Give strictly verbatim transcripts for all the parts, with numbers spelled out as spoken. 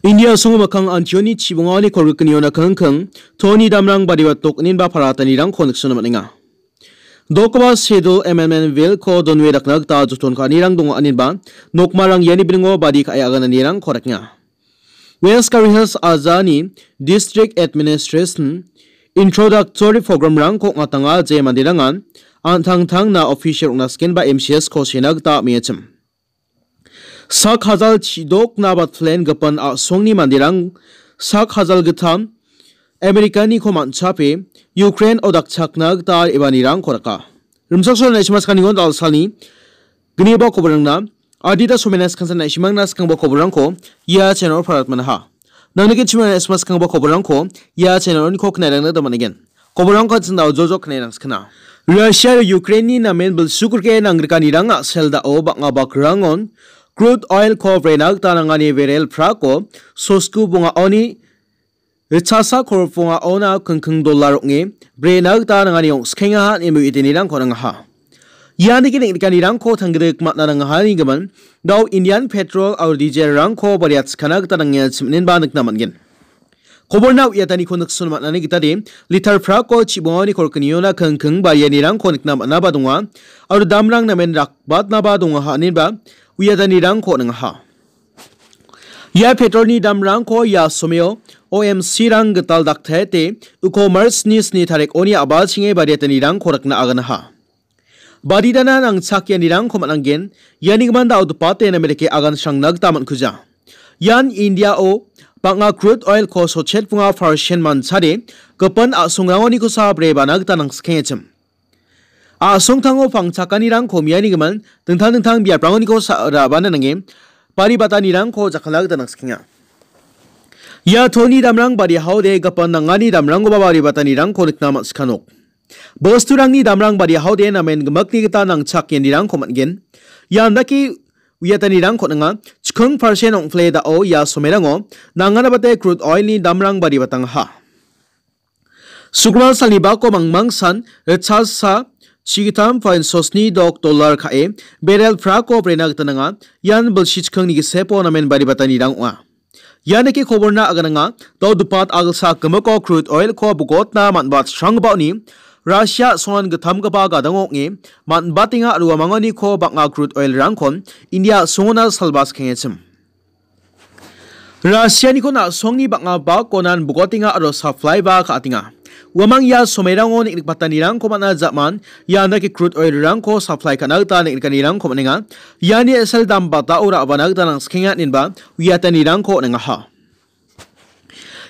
India a·songo mikkang antioni chibongani kolgrikgniona kingking, toni damrang badiba tokninba paratanirangko niksona man·enga. Dokgipa Schedule Amendment Bill-ko donwe dakna gita joton ka·anirang donga aninba, nokmarang iani bilingo badi ka·e agananirangko dakenga. West Garo Hills ajani District Administration Introductory Program-rangko ong·atanga je manderangan an·tangtangna official ong·na sikenba M C S-ko sena gita am·engachim. Sak hajal chidokna batlen gipin a·songni manderang sak hajal gittam Americaniko man·chape Ukraine-o dakchakna gita re·baanirangko raka. Rimchaksoa Naisima Skanigon Dalsalni gniba koborangna adita somena skansan Naisimangna skangba koborangko ia channel-o paratmanaha. Nangni gichimana Naisima skangba koborangko ia channel-oniko knairangna daman again. Koborangko an·ching da·o jojo knae rangskana. Russia aro Ukraine-ni namen bilsugrike nangrikanirang a·sel da·o bang·a bakrangon crude oil-ko brena gita nangani berel prako sosku bongaoni ritchasa korop bongaona kingking dollar ong·e brena gita nangani ong·skengaha ine uidenirangko nangaha. Ianike neng·nikanirangko tanggrik man·a nangahanigimin, da·o Indian petrol aro diesel-rangko bariatskana gita nangenga chiminenba nikna man·gen. Koborna uiataniko nikson man·ani gitade, litar prako chibongani kolkniona kingking barianirangko nikna man·aba donga, aro damrang namen rakbatnaba donga ha·aninba uiatanirangko ningaha. Ia petrolni damrangko ia someo O M C-rang gital daktaete uko March-ni sni tarikoni a·balchinge bariatanirangko rikna aganaha. Baditana nangchakianirangko man·angen, ianigimin da·o dipate namerike agan srangna gita man·kuja. Ian India-o bang·a crude oil-ko sotchet bunga percent manchade gipin a·songrangonikosa brebana gita nangskengachim. A·songtango pangchakanirang komianigimin dingtang dingtang biaprangoniko sa-, rabana nange bari batanirangko jakkalna gita nangsikenga. Ia toni damrang bari haode gipin nangani damrangkoba bari batanirangko nikna man·sikanok. Bosturangni damrang bari haode namen gimikni gita nangchak ianirangko man·gen. Ian dake uiatanirangko ninga, chikong percent ong·pile da·o ia somerango nangana bate crude oil-ni damrang bari batangaha. Sukmal salni bako mangmangsan ritchasa chigittam point sosni dok dollar ka·e, berel prako brena gita nanga, ian bilsi chikongni gisepo namen bari batanirang ong·a. Ianike koborna agananga, do·o dipat agilsa gimiko crude oil-ko bogotna man·bat sranggipaoni Russia a·songan gittamgipa gadango ong·e man·batenga aro uamanganiko bang·a crude oil-rangkon India a·songona salba skengachim. Russia-niko na·songni bang·a bakonan bogotenga aro supply-ba ka·atenga. Uamang ia somerango neng·rikbatanirangko man·a ja·man, ian dake crude oil-rangko supply ka·na gita neng·rikanirangko man·enga. Iani S L dam batao ra·bana gita nangsikenga inenba uiatanirangko on·engaha.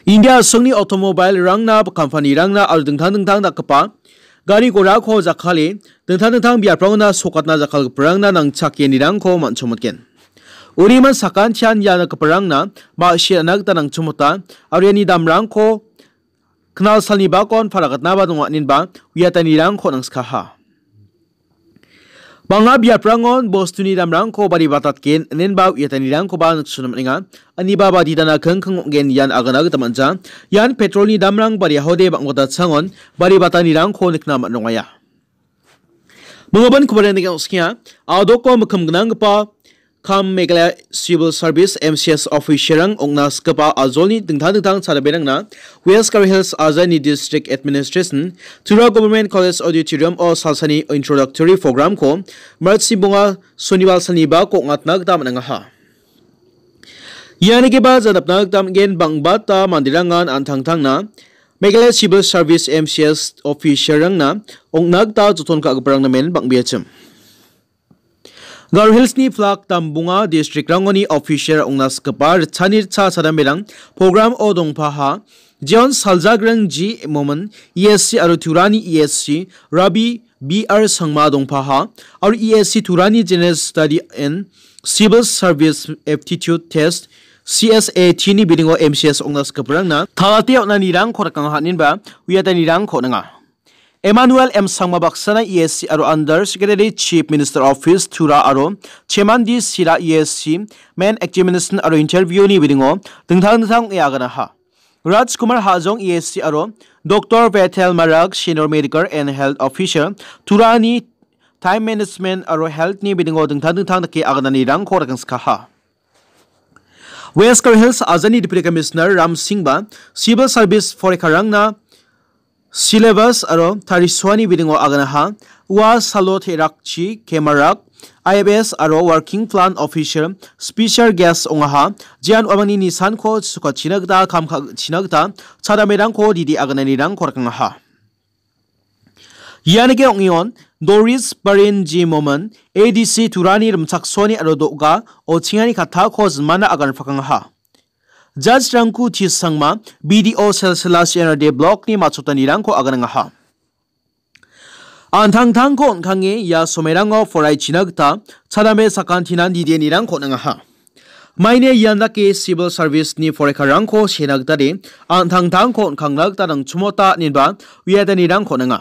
India a·songni automobile-rangna, company-rangna aro dingtang dingtang dakgipa gari gorako jakkale, dingtang dingtang biaprangona sokatna jakkalgiparangna nangchakianirangko man·chongmotgen. Uriman sakantian ia dakgiparangna ma·sina gita nangchongmota, aro iani damrangko knal salni bakon paragatnaba donga inenba uiatanirangko nangskaha. Bang·a biaprangon bostuni damrangko bari batatgen inenba uiatanirangkoba nikchona man·enga. Aniba baditana kingking ong·gen ian agana gita man·ja. Ian petrolni damrang bari haode bang·batatsangon bari batanirangko nikna man·rongaya. Minggipa kobaraniko on·skenga. A·doko mikkim gnanggipa kam Meghalaya Civil Service, M C S official-rang ong·na sikgipa ajolni dingtang dingtang chadamberangna West Garo Hills ajani District Administration, Tura Government College Auditorium-o salsani introductory program-ko March-ni bonga Sonibar salni bako ong·atna gita man·angaha. Ianigipa janapna gita man·gen, bang·bata manderangan an·tangtangna Meghalaya Civil Service, M C S official-rangna ong·na gita joton ka·giparang namen bang·beachim. Garo Hills-ni plak dambonga district-rangoni official ong·na sikgipa ritchani ritcha chadamberang program-o dongpaha. Jeon Saljagreng G Momin, E S C aro Turani E S C Rabi B R Sangma dongpaha, aro E S C Turani General Study and Civil Service Aptitude Test, C S A T-ni bilingo M C S ong·na sikgiparangna talate on·anirangko rikanga haninba uiatanirangko ninga. Emmanuel M Sangma baksana E S C aro Under Secretary Chief Minister Office Tura aro Chemandi Sira E S C Main Examination aro Interview-ni bilingo dingtang dingtang ong·e aganaha. Rajkumar Hajong E S C aro Doctor Bethel Marak Senior Medical and Health Officer Turani Time Management aro Health-ni bilingo dingtang dingtang dake agananirangko rikengskaha. West Garo Hills ajani Deputy Commissioner Ram Singh-ba civil service poraikarangna syllabus aro tarisoani bidingo aganaha, ua salo terakchi, kemarak, I F S aro working plan officer special guest ongaha, jean uamangni nisanko chukachina gita, kam ka-, china gita, chadamerangko didi agananirangko rakangaha. Ianike ong·eon, Doris Barin G Moman, A D C Turani rimchaksoani aro do·ga, ochingani kattako jinmana agan pakangaha. Judge Rangku T Sangma, B D O Selsela C N R D Block-ni matchotanirangko aganangaha. An·tangtangko on·kange ia somerango poraichina gita chadame sakantinan didienirangko on·angaha. Maine ian dake civil service-ni poraikarangko sena gita de, an·tangtangko on·kangna gita nangchimota inenba uiatanirangko on·anga.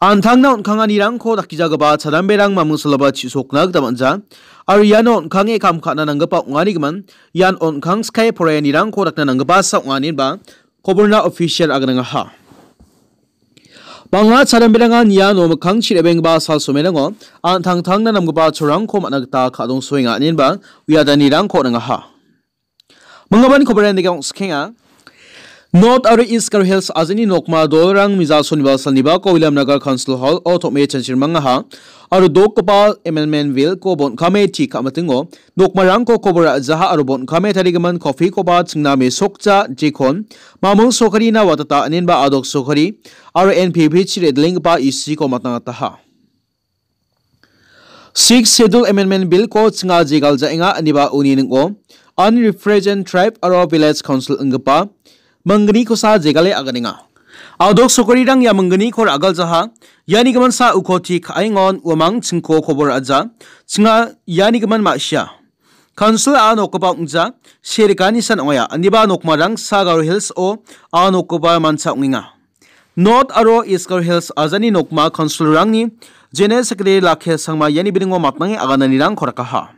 An·tangna on·kanganirangko dakgijagipa chadamberang mamung saloba chisokna gita man·ja. Aro iano on·kange kam ka·na nanggipa ong·anigimin, ian on·kang sikae poraianirangko dakna nanggipasa ong·a inenba koborna official aganangaha. Bang·a chadamberangan iano mikkangchi re·benggipa sal somerango an·tangtangna namgipa cholrangko man·a gita ka·dongsoenga inenba uiatanirangko on·angaha. Minggimin kobaraniko ong·skenga. North aro East Garo Hills ajani nokma dolrang Miza soniba salnibako Williamnagar Council Hall-o tom·e chanchirmangaha aro dokgipa amendment bill-ko bon·kame ti ka·mitingo nokmarangko kobor ra·jaha aro bon·kame tarigimin coffee-koba chingna mesokja jekon mamung sokarina watata inenba adok sokari aro N P P-chi re·dilenggipa isiko matangataha. Sixth Schedule Amendment Bill-ko chinga jegaljaenga ineba uni ning·o Unrepresented Tribe aro Village Council inggipa minggnikosa jegale aganenga. Adok sokarirang ia minggniko ra·galjaha, iani giminsa ukoti ka·engon uamang chingko kobor ra·ja, chinga iani gimin ma·sia. Council-a nokgipa ong·ja, serikani san ong·aia, indiba nokmarangsa Garo Hills-o a nokgipa mancha ong·enga. North aro East Garo Hills ajani nokma council-rangni General Secretary Lakhe Sangma iani bidingo matnange agananirangko rakaha.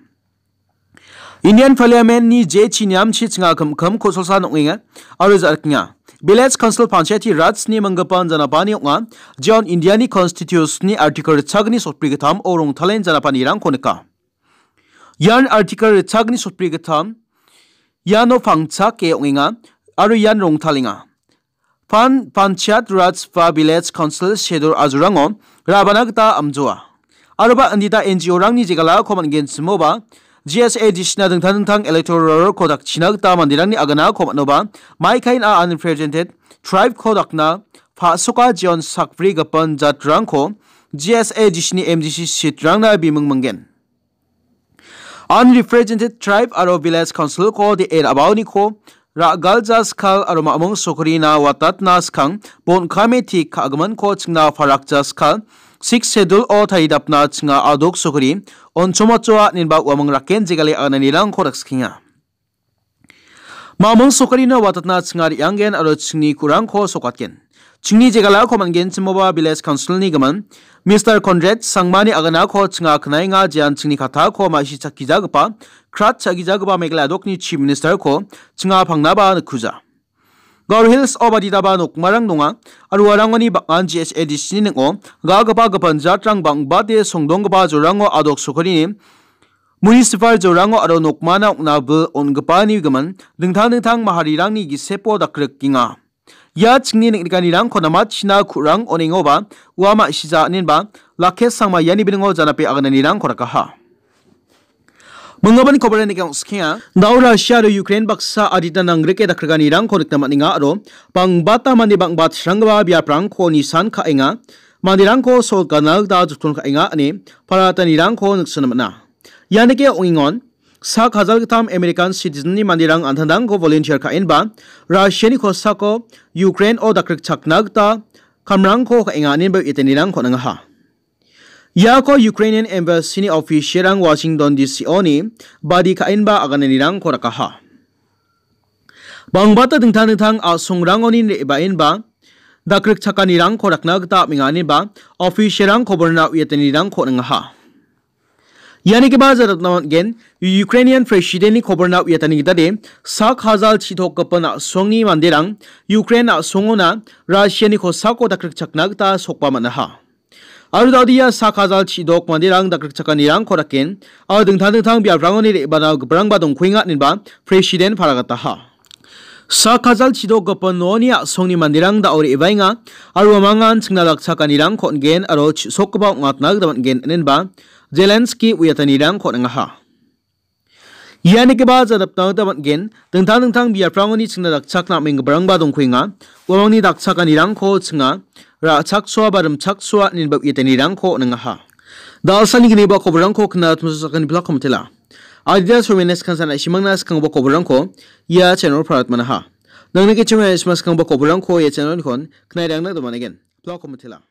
Indian Parliament-ni jechi niamchi chinga kim kim kosolsa nong·enga aro ja·rikenga. Village Council Panchayati Raj-ni manggipan janapani ong·a, jeon India-ni Constitution-ni Article ritchagni sotbri gittam-o rongtalen janapanirangko nika. Ian Article ritchagni sotbri gittam, iano pangchake ong·enga aro ian rongtalenga. Pan-, Panchayat Raj ba Village Council Schedule ajorango ra·bana gita amjoa. Aroba indita N G O-rangni jegalako man·genchimoba, G S A D C-na dingtang dingtang electoral roll-ko dakchina gita manderangni aganako man·oba, maikain a unrepresented tribe-ko dakna pa·soka jeon sakbri gipin jatrangko G S A D C-ni M D C seat-rangna bimung minggen. Unrepresented Tribe aro Village Council-ko de·e ra·baoniko ra·galja skal aro mamung sokorina watatna skang bon·kame tik ka·giminko chingna parakja skal Sixth Schedule-o taridapna chinga adok sokori on·chomochoa inenba uamang raken jegale agananirangko rakskenga. Mamung sokorina watatna chinga re·anggen aro chingni ku·rangko sokatgen. Chingni jegalako man·genchimoba Village Council-ni gimin Mister Conrad Sangmani aganako chinga knaenga, jean chingni kattako ma·sichakgijagipa, krat cha·gijagipa Meghalaya dokni Chief Minister-ko chinga pangnaba nikkuja. Garo Hills-o baditaba nokmarang donga, aro uarangoni bang·an G S A D C-ni ning·o ga·gipa gipin jatrang bang·bate songdonggipa jorango adok sokorini municipal jorango aro nokmana ong·na bil on·gipani gimin dingtang dingtang maharirangni gisepo dakrikenga. Ia chingni neng·nikanirangko namachina ku·rang on·engoba ua ma·sija inenba Lakhe Sangma iani bilingo janape agananirangko rakaha. Minggimin kobaraniko ong·skenga. Dao Russia aro Ukraine baksa adita nangrike dakrikanirangko nikna man·enga aro bang·bata mande bang·batranggipa biaprangko nisan ka·enga. Manderangko sol gana gita joton ka·enga ine paratanirangko niksona man·a. Ianike ong·engon, sak hajal gittam American citizen-ni manderang an·tangtangko volunteer ka·enba, Russia-ni kosako Ukraine-o dakrikchakna gita kamrangko ka·enga inenba uiatanirangko on·angaha. Iako Ukrainian Embassy-ni official-rang Washington D C-oni badi ka·enba agananirangko rakaha. Bang·bata dingtang dingtang a·songrangoni re·baenba dakrikchakanirangko rakna gita am·enga ineba official-rang koborna uiatanirangko on·angaha. Ianigipa jaratna man·gen, Ukrainian President-ni koborna uiatani gitade sak hajal chi·tokgipa a·songni manderang Ukraine a·songona Russia-ni kosako dakrikchakna gita sokba man·aha. Aro da·o ia sak hajal chidok manderang dakrikchakanirangko daken, aro dingtang dingtang biaprangoni re·bana giparangba dongkuenga inenba President paragataha. Sak hajal chidok gipin noni a·songni manderang da·o re·baenga, aro uamangan chingna dakchakanirangko on·gen aro chisokgipa ong·atna gita man·gen inenba Zelensky uiatanirangko on·angaha. Ia nigipa janapna gita man·gen, dingtang dingtang biaprangoni chingna dakchakna am·enggiparangba dongkuenga, uamangni dakchakanirangko chinga, ra·chaksoa ba rimchaksoa inenba uiatanirangko on·angaha. Da·alsani gniba koborangko kna tmosakani plak komitela. Adita somenes kansan aishimangna skanggipa koborangko ia channel parat manaha. Nangni kechima aishima skanggipa koborangko ia channel-nikon knairangna domanegen. Plak komitela.